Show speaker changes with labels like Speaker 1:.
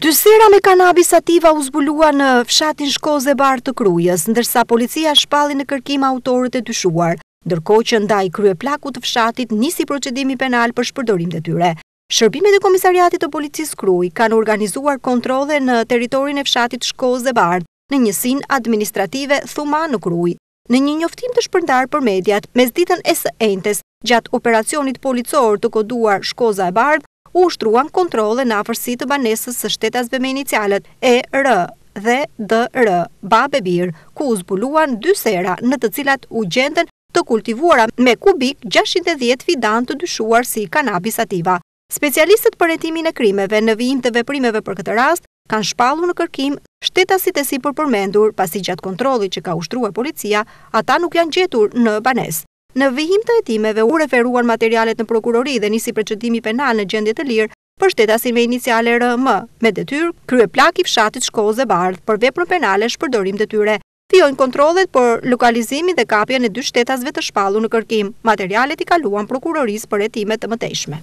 Speaker 1: Dy sera me kanabis sativa u zbuluan në fshatin Shkozë e Bardhë të Krujës, ndërsa policia shpalli në kërkim autorët e dyshuar, ndërkohë që ndaj kryeplakut të fshatit nisi procedimi penal për shpërdorim detyre. Shërbimet e Komisariatit të Policisë Krujë kanë organizuar kontrolle në territorin e fshatit Shkozë e Bardhë, në njësinë administrative Thumanë në Krujë. Në një njoftim të shpërndarë për mediat, mesditën e së enjtes, gjatë operacionit policor të koduar Shkoza e Bardhë, u ushtruan kontrolle në afërsi të banesës së shtetasve me inicialet ER dhe DR, babë e bir, ku u zbuluan dy sera në të cilat u gjendën të kultivuara me kubik 610 fidanë të dyshuar si kanabis sativa. Specialistët për hetimin e krimeve në vijim të veprimeve për këtë rast kanë shpallur në kërkim shtetasit e sipërpërmendur, pasi gjatë kontrollit që ka ushtruar policia, ata nuk janë gjetur në banesë. Në vijim të hetimeve u referuan materialet në prokurori dhe nisi procedimi penal në gjendje të lirë për shtetasin me iniciale RM, me detyrë kryeplak i fshatit Shkozë e Bardhë për veprën penale shpërdorim detyre. Vijojnë kontrollet për lokalizimin dhe kapjen e dy shtetasve të shpallur në kërkim. Materialet i kaluan prokurorisë për hetime të mëtejshme.